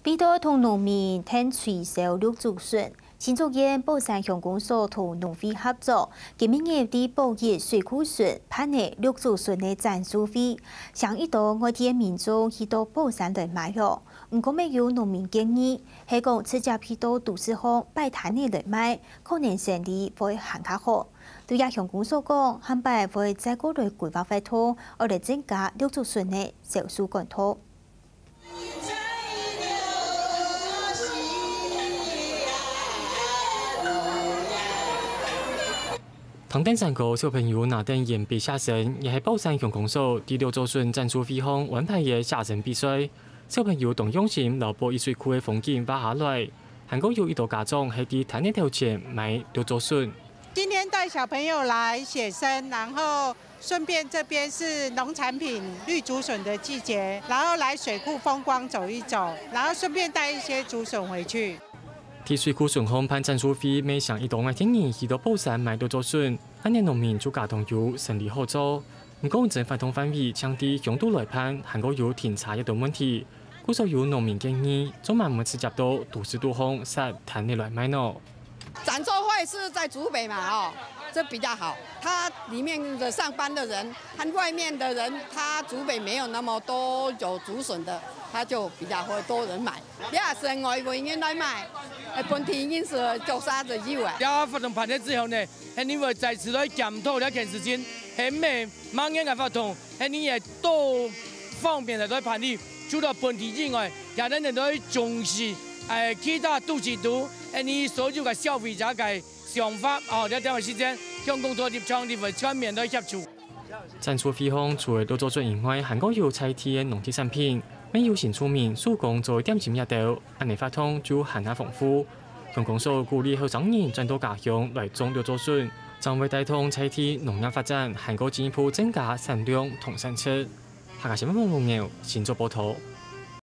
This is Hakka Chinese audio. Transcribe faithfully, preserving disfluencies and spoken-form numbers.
為著同農民𢯭催銷綠竹筍，新竹縣寶山鄉公所同農會合作，今晡日在寶一水庫筍辦理綠竹筍个展示會，請一兜外地个民眾去到寶山來買哦。毋過乜有農民建議，係講直接去到都市項擺攤仔來賣，可能生理會還較好。對這鄉公所講，下擺會再過來規劃活動，愛來增加綠竹筍个銷售管道。 聽等山歌，小朋友拿等鉛筆寫生，也係寶山鄉公所在綠竹筍展示會項安排个寫生比賽。小朋友當用心，摎寶一水庫个風景畫下來，還過有一兜家長係在攤仔頭前買綠竹筍。今天帶小朋友來寫生，然後順便這邊是農產品綠竹筍的季節，然後來水庫風光走一走，然後順便帶一些竹筍回去。在水庫筍項辦展示會，乜請一兜外地人去到寶山買綠竹筍，恁樣農民就加當有生理好做。毋過，整活動範圍淨在鄉肚來辦，還過有停車這兜問題，故所有農民建議，做麼毋直接到都市肚項設攤仔來賣呢？ 展售會是在竹北嘛，哦，這比較好。它裡面的上班的人和外面的人，它竹北沒有那麼多有竹筍的，它就比較會多人買。也係外圍人來買，呃，本地人是做啥子以外。這活動辦了之後呢，肯定會再次來檢討這件事情，係毋係麼个个活動，肯定也多方面來來辦理，除了本地以外，也能來重視，誒，其他都市肚，誒，你所有个消費者个 想法，哦，這點个時間，向工作立場，你會全面來協助。展示會項除了綠竹筍以外，還過有在地个農特產品，乜有新住民手工做个點心這兜，恁樣活動就還較豐富。鄉公所鼓勵後生人轉到家鄉來種綠竹筍，正會帶動在地農業發展，還過進一步增加產量同產值。客家新聞網羅牛，新竹報導。